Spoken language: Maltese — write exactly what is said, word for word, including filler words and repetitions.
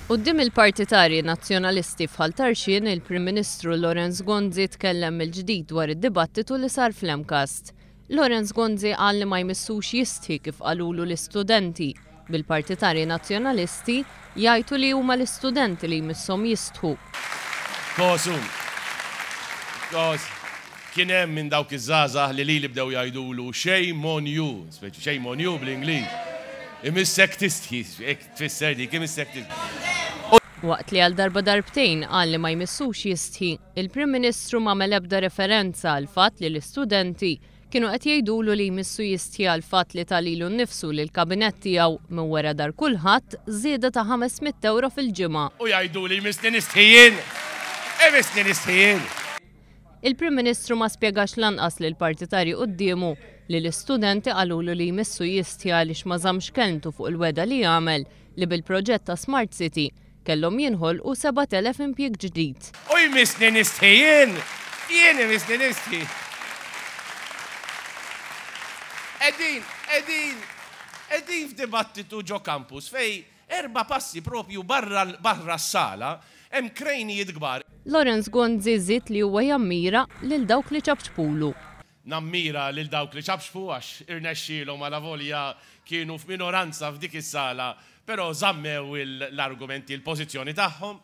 Quddiem il-partitarji Nazzjonalisti f'Ħal Tarxien, il-Prim Ministru Lawrence Gonzi tkellem mill-ġdid dwar id-dibattitu li sar fl-MCAST. Lawrence Gonzi qal li ma jmissux jistħi kif qalulu l-istudenti, bil-partitarji Nazzjonalisti jgħidu li huma l-istudenti li jmisshom jistħu. Kosu. Kos. Kien hemm minn dawk iż-żgħażagħ li li bdew jgħidulu "shame on you", speċi "shame on you" bl-Ingliż. Imissek tistħi, hekk tfisser dik, imissek tistħi. Waqt li għal darba darbtejn qal li ma jmissux jistħi, il-Prim Ministru ma ebda referenza għal fatt li l-istudenti kienu qed jgħidulu li jmissu jistħi għal fatt li ta lilu nnifsu li l-kabinett tiegħu minn wara dahar kulħadd żieda ta' ħames mitt euro fil-ġimgħa. U jgħidu li jmissni nistħi jien. Imissni nistħi jien. Il-Prim Ministru ma spjegax lanqas lil partitarji quddiemu li l-istudenti qalulu li jmissu jistħi għaliex ma żammx kelmtu fuq il-wegħda li għamel li bil-proġett ta' Smart City kellhom jinħolqu sebat elef impjieg ġdid. U jmissni nistħi jien. Jien imissni nistħi. Qegħdin, qegħdin, qegħdin f'dibattitu ġo campus fejn erba' passi propju barra barra s-sala hemm krejnijiet kbar. Lawrence Gonzi żied li huwa jammira lil dawk li ċapċpulu. Nammira lil dawk li ċapċpu għax irnexxielhom, għalavolja kienu f'minoranza f'dik is-sala, però żammew l-argumenti, l-pożizzjoni tagħhom.